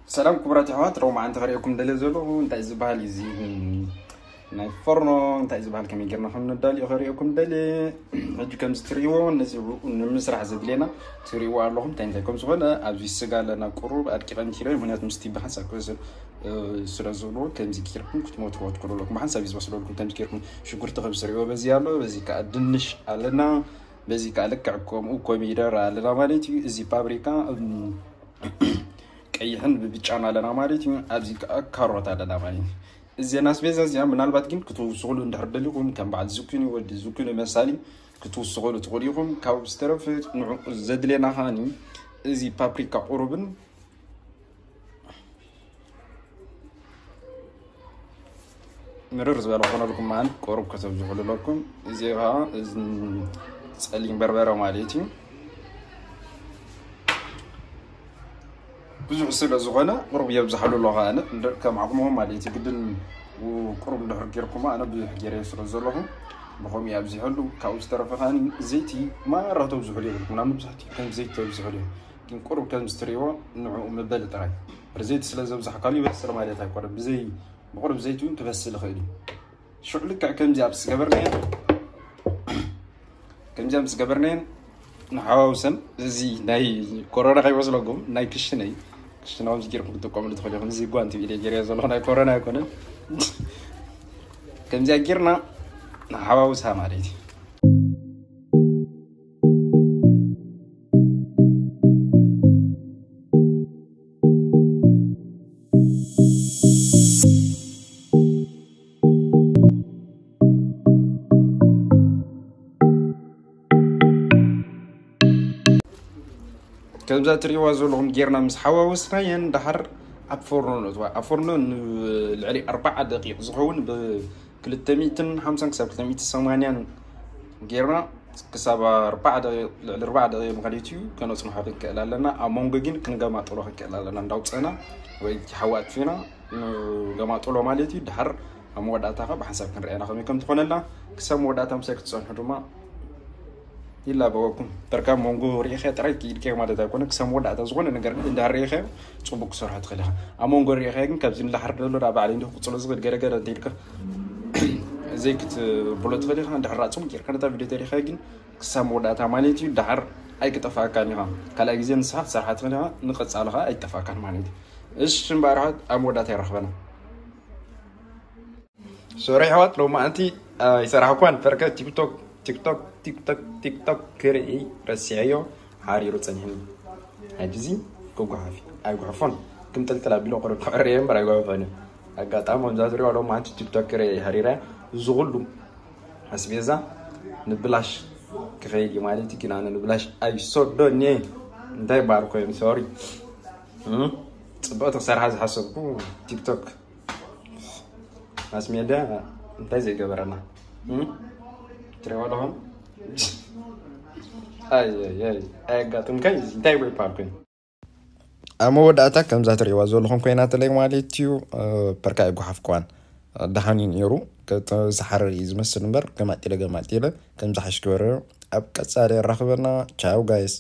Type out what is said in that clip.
ሰላም ክቡራት ኣሕዋት፣ ሮማዓንቲ ከርእየኩም ደልየ ዘለኹ እንታይ ዝበሃል እዩ እዚ ናይ ፎርኖ እንታይ ዝበሃል ከመይ ጌርና ከም ነዳልዮ ከርእየኩም ደልየ። ሕጂ ከምዚ ትርእይዎ ነዚ ንምስራሕ ዘድልየና ትርእይዎ ኣለኹም እንታይ እንታይ ከም ዝኾነ። ኣብዚ ስጋ ኣለና፣ ቁሩብ ኣድቂቐ ምኪረ፣ ምክንያቱ ምስቲ ብሓንሳብ ክበስል ስለ ዘለዎ ከምዚ ጌርኩም ክትመትዎ ትክእሉ ኣለኩም። ብሓንሳብ እዩ ዝበስለልኩም። ከምዚ ጌርኩም ሽጉርቲ ከም ትርእይዎ በዚ ኣሎ፣ በዚ ከዓ ድንሽ ኣለና፣ በዚ ከዓ ልክዕ ከምኡ ኮሚደር ኣለና ማለት እዩ። እዚ ፓፕሪካ ቀይሕን ብብጫን ኣለና ማለት እዩ። ኣብዚ ከዓ ካሮት ኣለና ማለት እዩ። እዚና ኣስቤዛ እዚኣ ምናልባት ግን ክትውስኹሉ እንድሕር ደሊኹም ከም በዓል ዝኩኒ ወዲ ዝኩኒ መሳሊ ክትውስኹሉ ትኽእሉ ኢኹም። ካብኡ ዝተረፈ ንዕኡ ዘድልየና ከዓኒ እዚ ፓፕሪካ ቁሩብን ምርር ዝበለ ክኾነልኩም መዓን ቁሩብ ከተብዝሑሉ ኣለኩም። እዚ ከዓ እዚ ጸሊም በርበረ ማለት እዩ። ብዙሕ ስለ ዝኾነ ቁሩብ የብዝሓሉ ኣለኹ ኣነ እንደ ከም ዓቕምኹም ማለት እዩ። ግድን ቁሩብ እንድሕር ጌርኩም ኣነ ብዙሕ ጌረ ስለ ዘለኹ ብኸምኡ ኣብዚሐሉ። ካብኡ ዝተረፈ ከዓኒ ዘይቲ ማራ ተብዝሑሉ የብልኩም። ናብ መብዛሕትኡ ከም ዘይቲ ተብዝሑሉ እዩ። ግን ቁሩብ ከም ዝትርእይዎ ንዕኡ መበሊ ጥራይ። ብዘይቲ ስለ ዘብዛሕካሉ ይበስል ማለት ኣይኮነን። ብዘይ ብቑሩብ ዘይቲ እውን ክበስል ይኽእል እዩ። ሽዑ ልክዕ ከምዚ ኣብ ዝገበርናዮ ከምዚ ኣብ ዝገበርናዮ ንሓዋውሰን። እዚ ናይ ኮሮና ከይመስለኩም ናይ ክሽነ እዩ። ክሽነ ከምዚ ጌርኩም ክትጥቀምሉ ትኽእሉ ኢኹም። እዚ ጓንቲ ኢለ ጌርዮ ዘለኹ ናይ ኮሮና ኣይኮነን። ከምዚኣ ጌርና ንሓዋውሳ ማለት እዩ። ከምዛ ትርእይዋ ዘለኹም ጌርና ምስ ሓዋወስናየን ደሓር ኣብ ፎርኖ ነእትዋ። ኣብ ፎርኖ ንልዕሊ ኣርባዓ ደቂቕ ዝኸውን ብ ክልተ ሚእትን ሓምሳን ክሳብ ክልተ ሚእትን ሰማንያን ጌርና ክሳብ ኣርባዓ ደቂቕ፣ ልዕሊ ኣርባዓ ደቂቕ ማለት እዩ፣ ከነጽንሖ ክንክእል ኣለና። ኣብ መንጎ ግን ክንገማጥሎ ክንክእል ኣለና። እንዳውጸና ወይ እቲ ሓዊ ኣጥፊና ንገማጥሎ ማለት እዩ። ድሓር ኣብ መወዳእታ ኸ ብሓንሳብ ክንርኣና ከመይ ከም ትኾነልና ክሳብ መወዳእታ ምሳይ ክትጸንሑ ድማ ይላበወኩም። በርካ መንጎ ርኢኸ ጥራይ ክኢድከ ማለት ኣይኮነ። ክሳብ መወዳእታ ዝኾነ ነገር ግን እንድሕር ርኢኸ ጽቡቅ ክሰርሖ ትኽእል ኢኻ። ኣብ መንጎ ርኢኸ ግን ካብዚ ንላሕር ደሎ ናብ ባዕለይ እንዲሁ ክጽሎ ዝኽእል ገለ ገለ እንተ ኢልካ ዘይክትብሎ ትኽእል ኢኻ። እንድሕር ጽቡቅ ጌርካ ነታ ቪድዮ ተሪኸ ግን ክሳብ መወዳእታ ማለት እዩ። ደሓር ኣይክጠፋእካን ኢኻ። ካልኣይ ግዜ ንስኻ ክትሰርሓ ትኽእል ኢኻ። ንቐጻሊ ኸኣ ኣይጠፋእካን ማለት እዩ። እሺ እምበኣር ኣሕዋት ኣብ መወዳእታ ይረኽበና። ሶሪ ኣሕዋት ሎማዓንቲ ኣይሰራሕኳን። ፈርከ ቲክቶክ ቲክቶክ ቲክቶክ ቲክቶክ ክርኢ ረሲዐዮ ሓሪሩ ጸኒሕኒ። ሕጂ እዚ ክጓሓፍ ኣይጉሕፎን። ክምጥልጥል ኣቢሎ ቁሩብ ክዕረየ እምበር ኣይጓሕፎን እዩ። ኣጋጣሚ ከምዛ ትሪኦ ሎማዓንቲ ቲክቶክ ክርኢ ሓሪረ እዚ ኩሉ ኣስቤዛ ንብላሽ ክኸይድ እዩ ማለት እዩ። ግን ኣነ ንብላሽ ኣይሰዶን እየ። እንታይ ይበሃል ኮይኑ ሶሪ። እም? ጽብቕቲ ክሰርሓ ዝሓሰብኩ ቲክቶክ ማስ ሜድያ እንታይ ዘይገበረና? እም? ትሪእዎ ኣለኹም? ኣይ፣ ኣይ፣ ኣይ፣ ኣየጋጥምካይ እዚ እንታይ ይበሃል ኮይኑ? ኣብ መወዳእታ ከምዛ ትሪእዋ ዘለኹም ኮይናትለይ ማለት እዩ። እ፣ ፐርካ ኣይጓሓፍክዋን። ደሓን እዩ ነይሩ። ከተ-፣ ዝሓረር እዩ ዝመስል እምበር ገማጢለ ገማጢለ ከም ዝሓሽ ክበረ። ኣብ ቀጻሊ የራኽበና። ቻው ጋይስ።